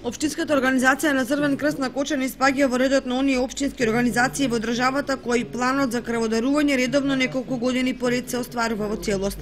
Општинската организација на Црвен крст на Кочани спаѓа во редот на оние општински организации во државата кои планот за крводарување редовно неколку години поред се остварува во целост.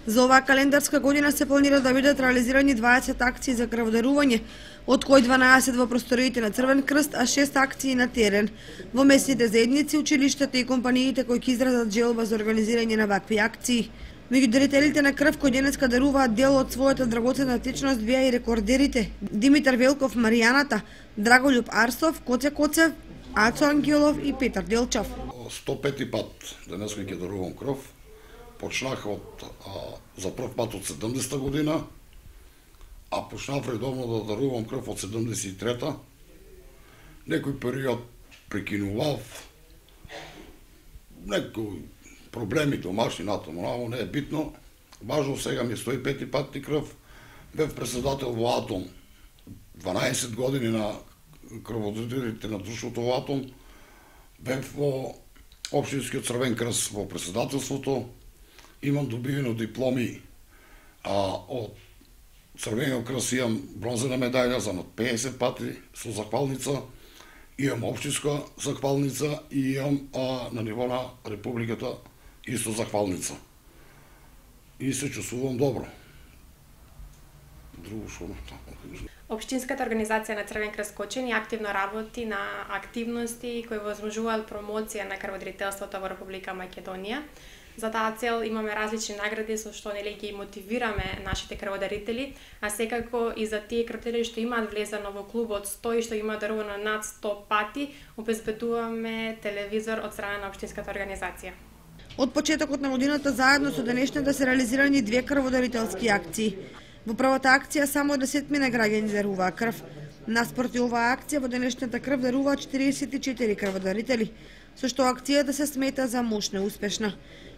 За оваа календарска година се планира да бидат реализирани 20 акции за крводарување, од кои 12 во просториите на Црвен крст, а 6 акции на терен, во местните заедници, училиштата и компаниите кои ќе изразат желба за организирање на вакви акции. Меѓу дарителите на крв кои денеска даруваат дел од својата драгоценна течност беа и рекордерите Димитар Велков Маријаната, Драголюб Арсов, Коце Коцев, Ацо Ангелов и Петар Делчев. 105 пат денеска ќе дарувам крв. Почнах за прв пат од 70-та година, а почнав редовно да дарувам крв од 73-та. Некој период прекинував, некој проблеми домашни натаму, но не е битно. Важно сега ми е 105 патни крв. Бев председател во Атом 12 години на крводарителите на друштвото во Атом. Бев во Општинскиот Црвен крст во председателството. Имам добивено дипломи од Црвениот крст, имам бронзена медаља за над 50 пати со захвалница, имам општинска захвалница и имам на ниво на Републиката исто захвалница. И се чувствувам добро. Друго што Општинската организација на Црвен крст Кочани активно работи на активности кои возможуваат промоција на крводарителството во Република Македонија. За таа цел имаме различни награди со што ги мотивираме нашите крводарители, а секако и за тие крводарители што имаат влезено во клубот 100 и што имаат дарувано над 100 пати, обезбедуваме телевизор од страна на општинската организација. Од почетокот на годината заедно со денешната се реализирани 2 крводарителски акции. Во првата акција само 10 граѓани даруваа крв. Наспроти оваа акција во денешната крв даруваат 44 крводарители, со што акцијата се смета за мощна и успешна.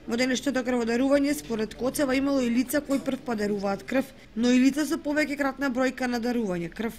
Во денешното крводарување според Коцева имало и лица кои прв пат даруваат крв, но и лица со повеќе кратна бројка на дарување крв.